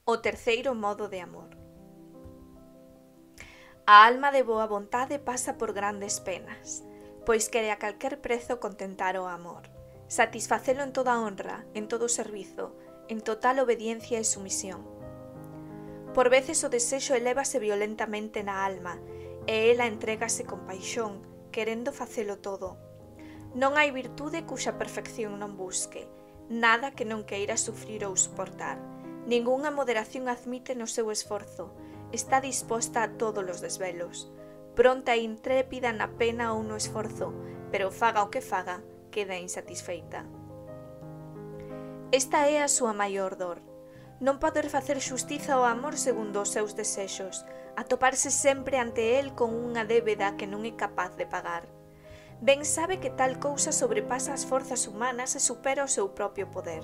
O terceiro modo de amor. A alma de boa vontade pasa por grandes penas, pois quere a calquer prezo contentar o amor, satisfacelo en toda honra, en todo servizo, en total obediencia e sumisión. Por veces o desexo elévase violentamente na alma, e ela entrégase con paixón, querendo facelo todo. Non hai virtude cuxa perfección non busque, nada que non queira sufrir ou suportar. Ningunha moderación admite no seu esforzo, está disposta a todos os desvelos, pronta e intrépida na pena ou no esforzo, pero faga o que faga, queda insatisfeita. Esta é a súa maior dor, non poder facer xustiza ao amor segundo os seus desexos, atoparse sempre ante el con unha débeda que non é capaz de pagar. Ben sabe que tal cousa sobrepasa as forzas humanas e supera o seu propio poder.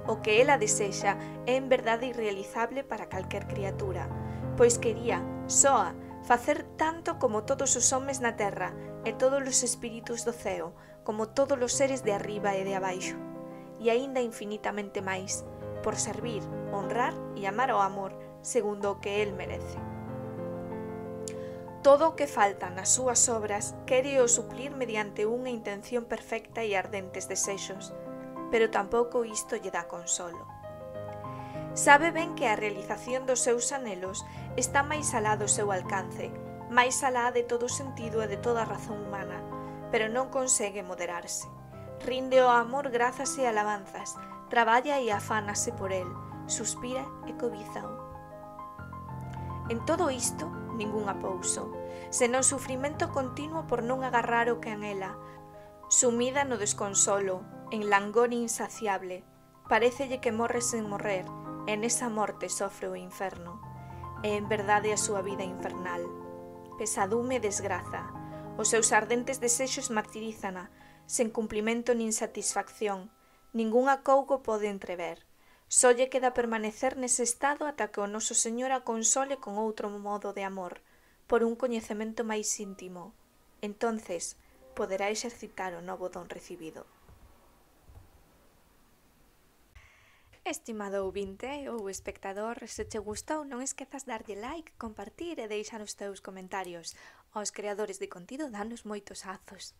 O que ela desexa é en verdade irrealizable para calquer criatura, pois quería, soa, facer tanto como todos os homes na terra e todos os espíritus do ceo, como todos os seres de arriba e de abaixo, e aínda infinitamente máis, por servir, honrar e amar ao amor segundo o que el merece. Todo o que falta nas súas obras quere o suplir mediante unha intención perfecta e ardentes desexos, pero tampouco isto lle dá consolo. Sabe ben que a realización dos seus anhelos está máis alá do seu alcance, máis alá de todo sentido e de toda razón humana, pero non consegue moderarse. Rinde ao amor grazas e alabanzas, traballa e afánase por el, suspira e cobízao. En todo isto, ningún apouso, senón sufrimento continuo por non agarrar o que anhela, sumida no desconsolo, en langor insaciable, parécelle que morre sen morrer, e nesa morte sofre o inferno. É en verdade a súa vida infernal. Pesadume e desgraza, os seus ardentes desexos martirízana, sen cumplimento nin satisfacción, ningún acougo pode entrever. Só lle queda permanecer nese estado ata que o noso Señor a console con outro modo de amor, por un coñecemento máis íntimo. Entonces, poderá exercitar o novo don recibido. Estimado ouvinte ou espectador, se che gustou non esquezas darlle like, compartir e deixar os teus comentarios. Aos creadores de contido danos moitos azos.